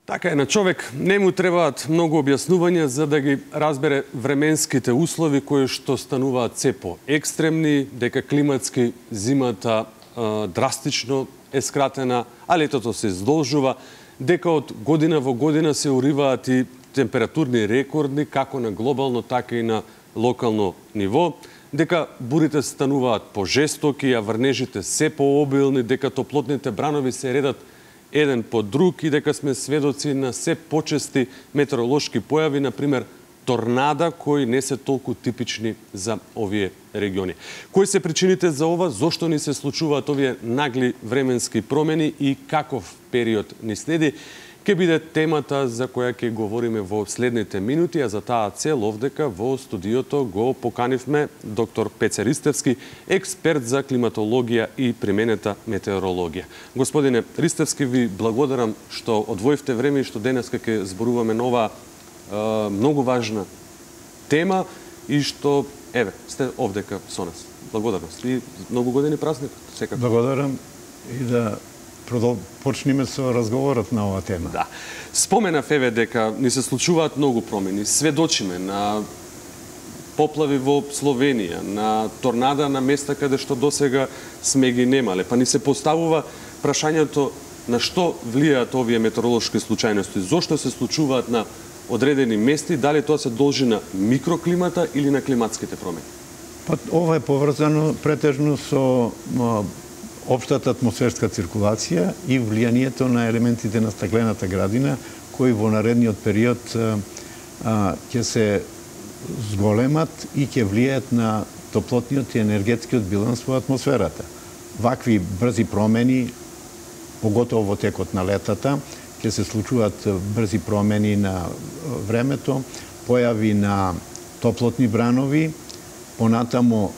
Така е, на човек не му требаат многу објаснувања за да ги разбере временските услови кои што стануваат се по-екстремни, дека климатски зимата драстично е скратена, а летото се издолжува, дека од година во година се уриваат и температурни рекорди, како на глобално, така и на локално ниво, дека бурите стануваат пожестоки, а врнежите се пообилни, дека топлотните бранови се редат еден по друг и дека сме сведоци на се почести метеоролошки појави, например торнада, кои не се толку типични за овие региони. Кои се причините за ова, зошто ни се случуваат овие нагли временски промени и каков период ни следи, ќе биде темата за која ќе говориме во следните минути, а за таа цел овдека во студиото го поканивме доктор Пеце Ристевски, експерт за климатологија и применета метеорологија. Господине Ристевски, ви благодарам што одвоивте време и што денеска ќе зборуваме на оваа многу важна тема и што, еве, сте овдека со нас. Благодарност и многу години празник, секако. Благодарам и да почнеме со разговорот на оваа тема. Да. Споменав еве дека ни се случуваат многу промени. Сведочиме на поплави во Словенија, на торнада на места каде што досега сме ги немале. Па ни се поставува прашањето на што влијаат овие метеоролошки случајности, зошто се случуваат на одредени места, дали тоа се должи на микроклимата или на климатските промени? Па ова е поврзано претежно со општата атмосферска циркулација и влијанието на елементите на стаклената градина, кои во наредниот период ќе се зголемат и ќе влијаат на топлотниот и енергетскиот биланс во атмосферата. Вакви брзи промени, поготово во текот на летата, ќе се случуваат брзи промени на времето, појави на топлотни бранови, понатамо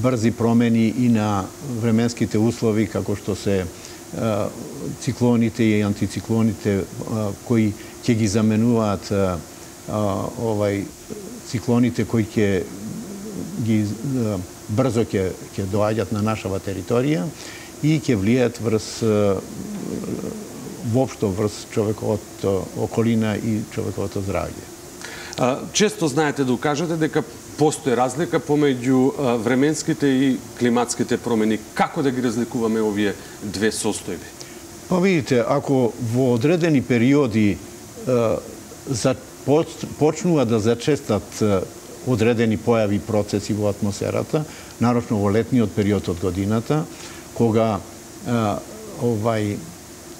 брзи промени и на временските услови, како што се циклоните и антициклоните, кои ќе ги заменуваат циклоните кои ќе ги брзо ќе доаѓаат на нашава територија и ќе влијаат врз воопшто врз човековото околина и човековото здравје. Често знаете да укажете дека постои разлика помеѓу временските и климатските промени. Како да ги разликуваме овие две состојби? Па видите, ако во одредени периоди почнува да зачестат одредени појави и процеси во атмосферата, нарочно во летниот период од годината, кога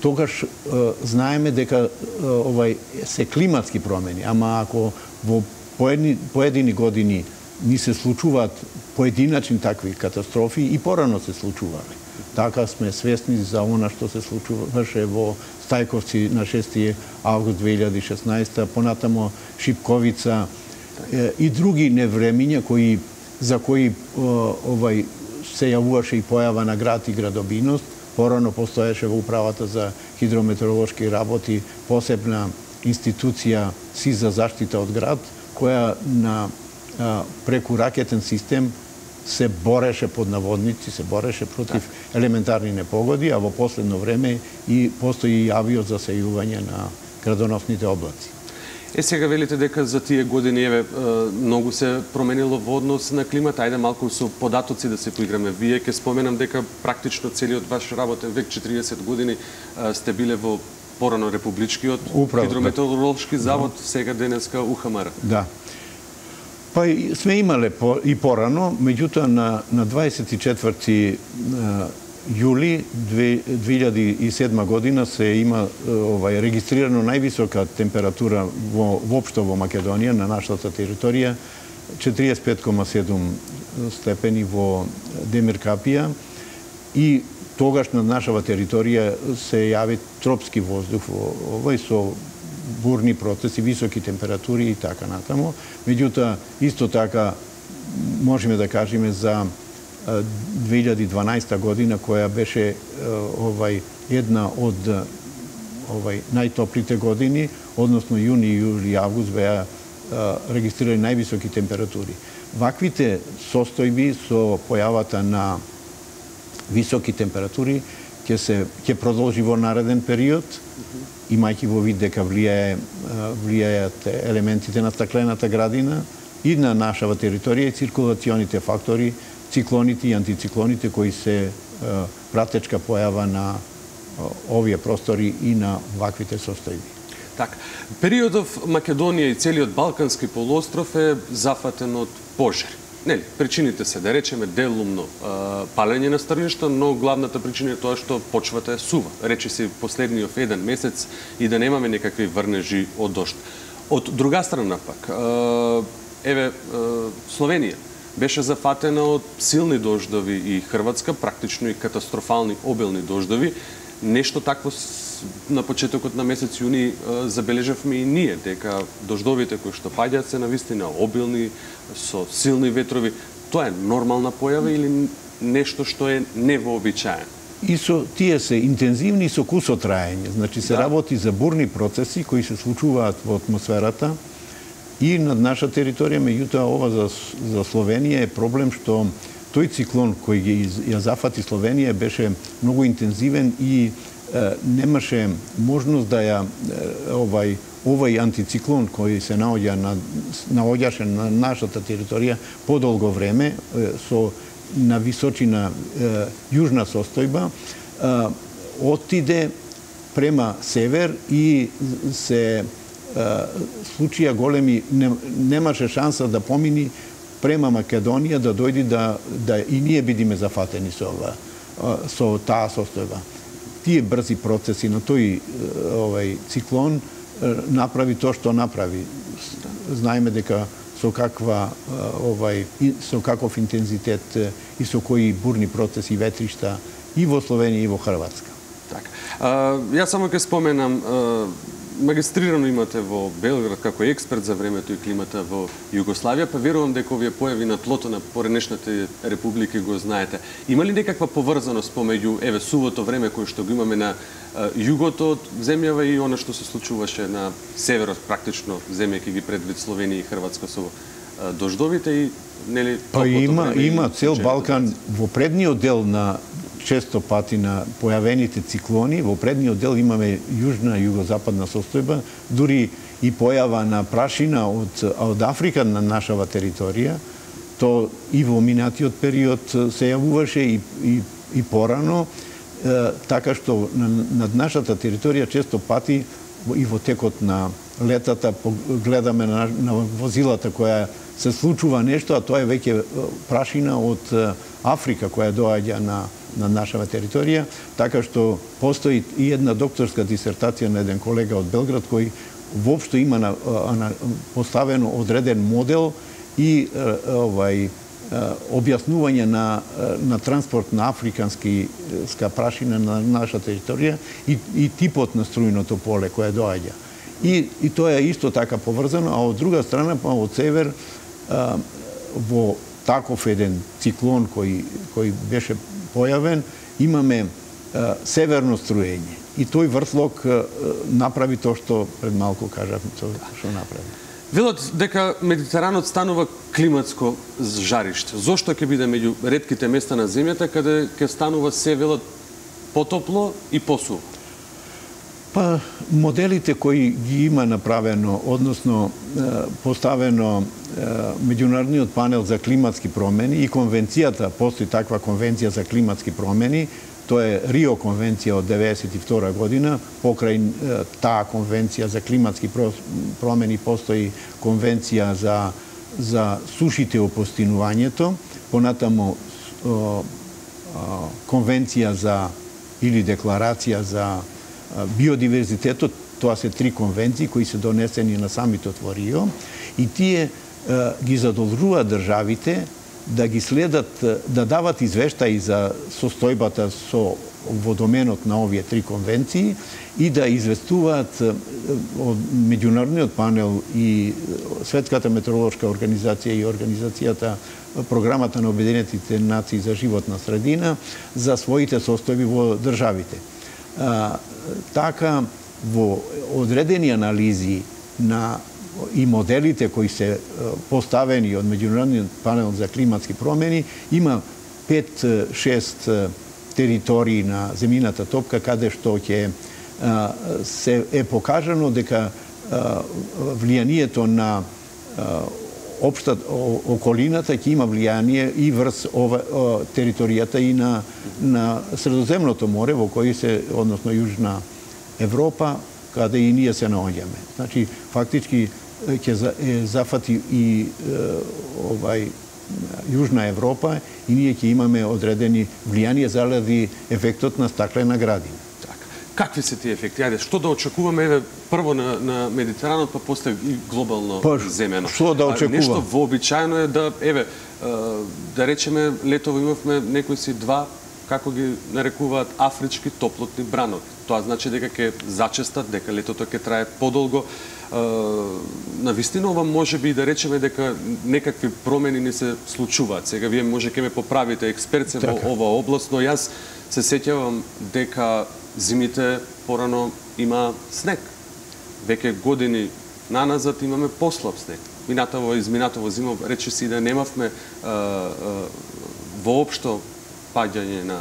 тогаш знаеме дека се климатски промени, ама ако во поедини години ни се случуваат поединачни такви катастрофи и порано се случувале. Така сме свесни за она што се случуваше во Стајковци на 6 август 2016, понатамо Шипковица и други невремиња за кои се јавуваше и појава на град и градобиност. Порано постоеше во Управата за хидрометеоролошки работи посебна институција СИЗ за заштита од град, која преку ракетен систем се бореше под наводници, се бореше против елементарни непогоди, а во последно време и постои и авио за сејување на градоносните облаци. Сега велите дека за тие години многу се променило во однос на климата. Ајде малку со податоци да се поиграме. Вие ќе споменам дека практично целиот ваш работен век, 40 години, сте биле во порано Републичкиот хидрометеоролошки завод, сега денеска УХМР. Да. Па сме имале и порано, меѓутоа на 24 јули 2007 година се има регистрирано највисока температура воопшто во Македонија, на нашата територија, 45,7 степени во Демир Капија и тогаш на нашава територија се јави тропски воздух со бурни процеси, високи температури и така натаму. Меѓутоа, исто така можеме да кажеме за 2012 година, која беше една од најтоплите години, односно јуни, јули и август беа регистрирани највисоки температури. Ваквите состојби со појавата на високи температури ќе продолжи во нареден период, имајќи во вид дека влијаат елементите на стаклената градина и на нашава територија и циркулационите фактори, циклоните и антициклоните кои се пратечка појава на овие простори и на ваквите состојби. Така, периодов Македонија и целиот Балкански полуостров е зафатен од пожари. Нели, причините се, да речеме, делумно палење на стрништа, но главната причина е тоа што почвата е сува. Рече си последниот еден месец и да немаме некакви врнежи од дожд. Од друга страна пак, Словенија беше зафатена од силни дождови и Хрватска, практично и катастрофални обилни дождови. Нешто такво на почетокот на месец јуни забележавме и ние, дека дождовите кои што паѓаат се навистина обилни, со силни ветрови. Тоа е нормална појава или нешто што е невообичаено? И тие се интензивни со кусотраење. Значи се работи за бурни процеси кои се случуваат во атмосферата и над наша територија, меѓутоа ова за Словенија е проблем што тој циклон кој ја зафати Словенија беше многу интензивен и немаше можност да овај антициклон кој се наоѓаше на нашата територија подолго време на височина јужна состојба, отиде према север и се случија големи, немаше шанса да помини према Македонија, да дојди да и ние бидиме зафатени со таа состојба. Тие брзи процеси на тој циклон направи тоа што направи. Знаеме дека со каков интензитет и со кои бурни процеси ветришта и во Словенија и во Хрватска. Така. Јас само ќе споменам, магистрирано имате во Белград како експерт за времето и климата во Југославија, па верувам дека овие појави на тлото на поранешните републики го знаете. Има ли некаква поврзаност помеѓу сувото време кое што го имаме на југото од земјава и она што се случуваше на северот, практично земјајќи ги предвид Словенија и Хрватска со дождовите и нели има цел Балкан во предниот дел на често пати на појавените циклони, во предниот дел имаме јужна и југозападна состојба, дури и појава на прашина од Африка на нашава територија, то и во минатиот период се јавуваше и порано, така што над нашата територија често пати и во текот на летата гледаме на возилата која се случува нешто, а тоа е веќе прашина од Африка која доаѓа на нашава територија, така што постои и една докторска дисертација на еден колега од Белград кој воопшто има поставено одреден модел и објаснување на транспорт на африканска прашина на наша територија и типот на струјното поле кое доаѓа. И тоа е исто така поврзано, а од друга страна, од север, во таков еден циклон кој беше појавен, имаме северно струење. И тој вртлок направи тоа што пред малку кажав, што направи. Велат дека Медитеранот станува климатско жариште. Зошто ќе биде меѓу ретките места на земјата каде ќе станува се велат потопло и посуво? Па, моделите кои ги има направено, односно поставено Меѓународниот панел за климатски промени и конвенцијата, постои таква конвенција за климатски промени, тоа е Рио конвенција од 1992 година, покрај таа конвенција за климатски промени постои конвенција за сушите и опустинувањето, понатамо конвенција или декларација за биодиверзитетот, тоа се 3 конвенции кои се донесени на самитот во Рио и тие ги задолжуваат државите да ги следат, да дават извештаи за состојбата во доменот на овие 3 конвенции и да известуваат од Меѓународниот панел и Светската метеоролошка организација и организацијата Програмата на Обединетите нации за животна средина за своите состојби во државите. Така, во одредени анализи и моделите кои се поставени од Меѓународниот панел за климатски промени, има 5-6 територии на земјината топка, каде што ќе се покажано дека влијанието на општа околината ќе има влијание и врз територијата и на Средоземното море, во кој се, односно Јужна Европа, каде и ние се наоѓаме. Значи, фактички ќе зафати и Јужна Европа и ние ќе имаме одредени влијанија заради ефектот на стаклена градина. Какви се тие ефекти? Ајде, што да очекуваме, еве, прво на Медитеранот, па после и глобално земено? Што да очекуваме? Нешто вообичаено е да, еве, да речеме, летово имавме некои си два, како ги нарекуваат, афрички топлотни бранови. Тоа значи дека ќе зачестат, дека летото ќе трае подолго. Навистина ова може би да речеме дека некакви промени не се случуваат. Сега вие може ќе ме поправите, експерт се во ова област, но јас се сеќавам дека зимите порано има снег. Веќе години наназад имаме послаб снег. Изминатово зима рече си да немавме воопшто паѓање на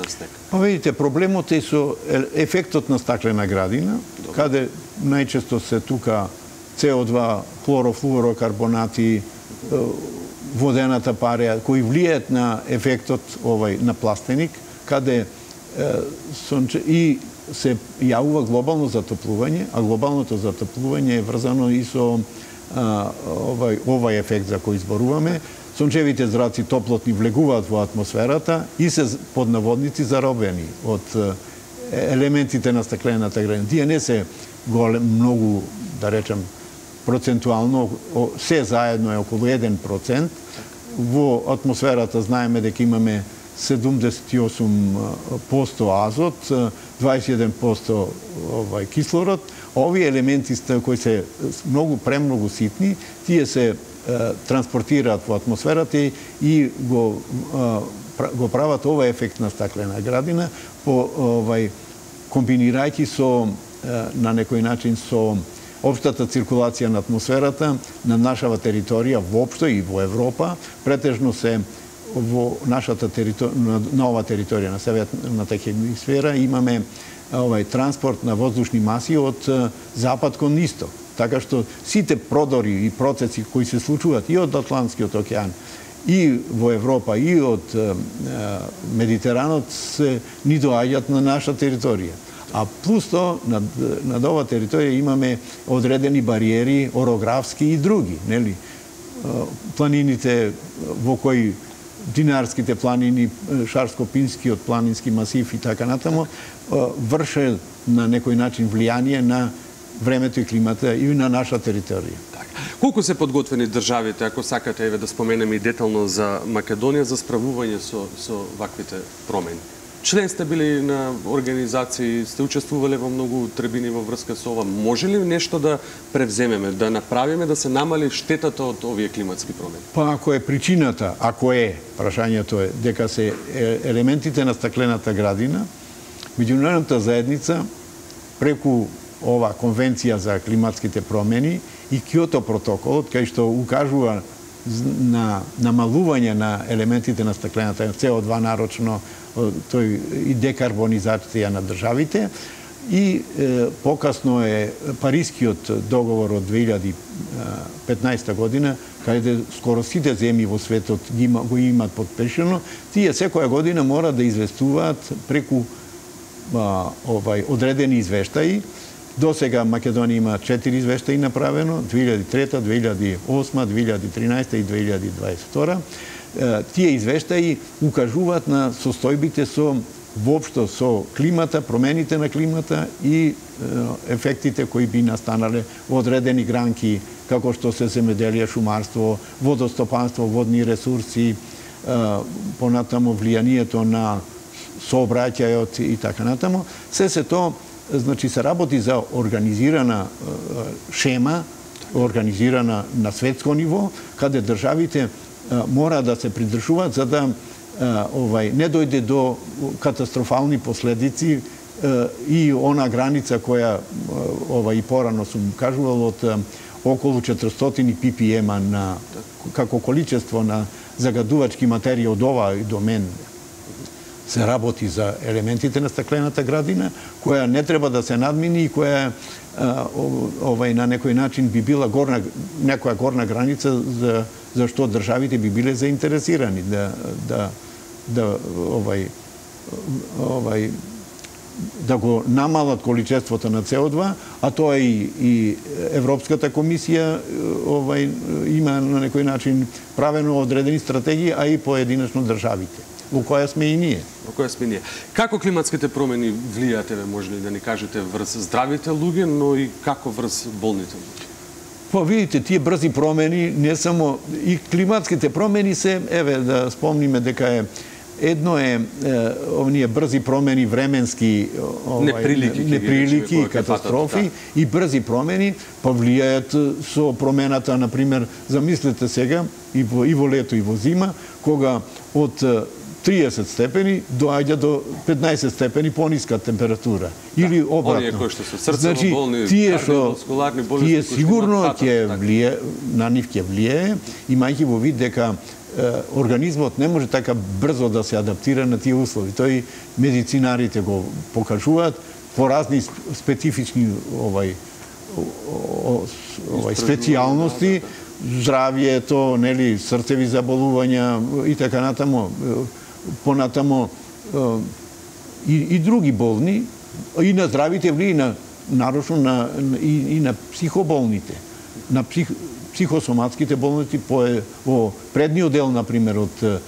снег. Па видите, проблемот е со ефектот на стаклена градина, каде најчесто се тука CO2, хлорофлуорокарбонати, водената пареја, кои влијаат на ефектот на пластеник, каде и се јавува глобално затоплување, а глобалното затоплување е врзано и со овај ефект за кој зборуваме. Сончевите зраци топлотни влегуваат во атмосферата и се под наводници заробени од елементите на стаклената градина. Тие не се многу, да речем, процентуално, се заедно е околу 1%. Во атмосферата знаеме дека имаме 78% азот, 21% кислород. Овие елементи кои се премногу ситни, тие се транспортираат во атмосферата и го прават овој ефект на стаклена градина, комбинирајќи со, на некој начин, со општата циркулација на атмосферата на нашава територија воопшто и во Европа, претежно се во нашата на ова територија на северната хемисфера имаме транспорт на воздушни маси од запад кон исток. Така што сите продори и процеси кои се случуваат и од Атлантскиот океан, и во Европа, и од Медитеранот ни доаѓаат на наша територија. А плюс тоа, над ова територија имаме одредени бариери, орографски и други, нели? Планините во кои Динарските планини, Шарско-Пинскиот планински масив и така натаму, врше на некој начин влијание на времето и климата и на наша територија. Колку се подготвени државите, ако сакате да споменеме и детално за Македонија, за справување со ваквите промени? Член сте били на организации, сте учествувале во многу требини во врска со ова. Може ли нешто да превземеме, да направиме, да се намали штетата од овие климатски промени? Па ако е причината, прашањето е дека се елементите на стаклената градина, меѓународната заедница преку ова конвенција за климатските промени и Киото протоколот, кај што укажува на намалување на елементите на стаклената, CO2 нарочно, тој и декарбонизација на државите, и покасно е Парискиот договор од 2015 година, каде скоро сите земји во светот го имаат подпишано, тие секоја година мора да известуваат преку одредени извештаи. До сега Македонија има 4 извештаи направено, 2003, 2008, 2013 и 2022. Тие извештаи укажуваат на состојбите воопшто со климата, промените на климата и ефектите кои би настанале во одредени гранки, како што се земеделие, шумарство, водостопанство, водни ресурси, понатаму влијанието на сообраќајот и така натаму. Се тоа, значи, се работи за организирана шема, организирана на светско ниво, каде државите мора да се придржуваат за да не дојде до катастрофални последици и она граница која и порано сум кажувал од околу 400 ppm на како количество на загадувачки материја од овај домен се работи за елементите на стаклената градина, која не треба да се надмини и која на некој начин би била некоја горна граница за што државите би биле заинтересирани да го намалат количеството на СО2, а тоа и Европската комисија има на некој начин правено одредени стратегии, а и поединечно државите, во која сме и ние. Како климатските промени влијаат, може ли да ни кажете, врз здравите луѓе, но и како врз болните луѓе? Па видите, тие брзи промени, не само и климатските промени се, да спомниме дека едно е овие брзи промени, временски неприлики и катастрофи, и брзи промени повлијаат со промената, например, замислете сега и во лето и во зима, кога од 30 степени доаѓа до 15 степени пониска температура. Или обратно. Значи, тие сигурно ќе влие, на нив ќе влие, имајќи во вид дека организмот не може така брзо да се адаптира на тие услови. Тој медицинарите го покажуваат по разни специфични специјалности, здравието, нели, срцеви заболувања и така натаму, понатамо и други болни, и на здравите влие, нарочно и на психоболните, на психосоматските болности. Во предниот дел, например, од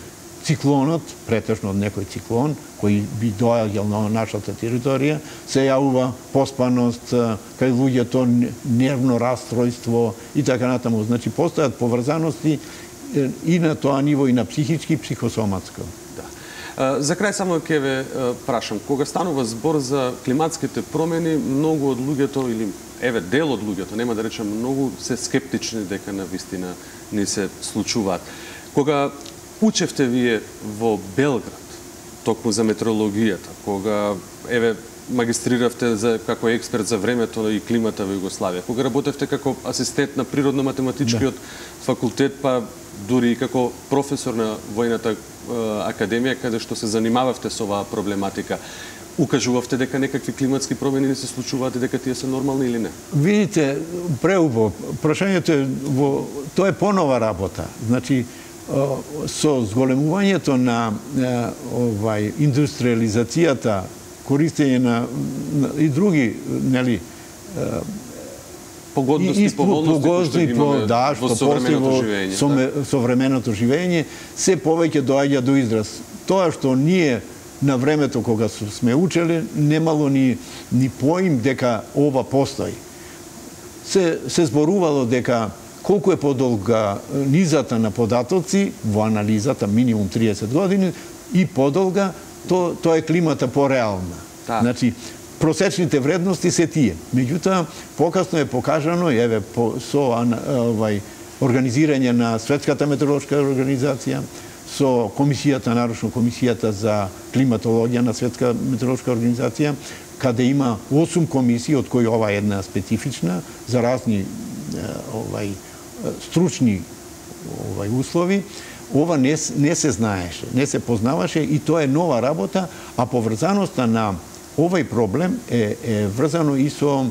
циклонот, претежно од некој циклон, кој би доаѓал на нашата територија, се јавува поспаност, кај луѓето нервно расстройство и така натаму. Значи, постојат поврзаности и на тоа ниво, и на психички, и психосоматско. За крај само ќе ве прашам, кога станува збор за климатските промени, многу од луѓето, или дел од луѓето, нема да речем многу, се скептични дека навистина не се случуваат. Кога учевте вие во Белград, токму за метеорологијата, кога магистриравте како експерт за времето и климата во Југославија, кога работевте како асистент на природно-математичкиот факултет, па дури и како професор на Војната академија, каде што се занимававте со оваа проблематика, укажувавте дека некакви климатски промени не се случуваат и дека тие се нормални или не? Видите, преубаво, прашањето е тоа е понова работа. Значи, со зголемувањето на индустриализацијата, користење на и други, нели, погодности, поволности, што современото живење, се повеќе доаѓа до израз. Тоа што ние на времето кога сме учеле, немало ни поим дека ова постои. Се зборувало дека колку е подолга низата на податоци во анализата, минимум 30 години, и подолга, тоа е климата пореална. Значи, просечните вредности се тие. Меѓутоа, покасно е покажано, со организирање на Светската метеоролошка организација, со комисијата, нарочно комисијата за климатологија на Светска метеоролошка организација, каде има 8 комисии, од кои ова е една специфична, за разни стручни услови. Ова не се знаеше, не се познаваше и тоа е нова работа, а поврзаноста на овој проблем е врзано и со,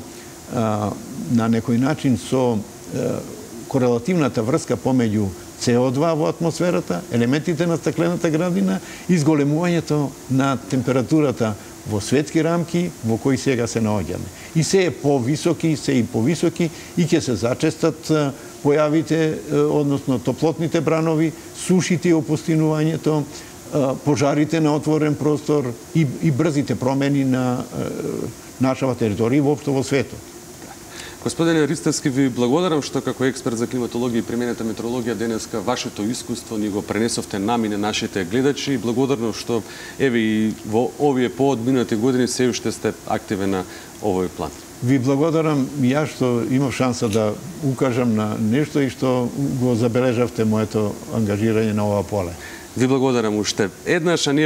на некој начин, со корелативната врска помеѓу СО2 во атмосферата, елементите на стаклената градина и зголемувањето на температурата во светски рамки во кои сега се наоѓаме. И се е повисоки, и ќе се зачестат појавите, односно топлотните бранови, сушите и опустинувањето, пожарите на отворен простор и брзите промени на нашава територија и воопшто во светот. Господине Ристевски, ви благодарам што како експерт за климатологија и применета метеорологија денеска вашето искуство ни го пренесовте нам и на нашите гледачи и благодарно што и во овие поодминати години се уште сте активен на овој план. Ви благодарам ја што имав шанса да укажам на нешто и што го забележавте моето ангажирање на ова поле. Ви благодарам уште еднаш, а ние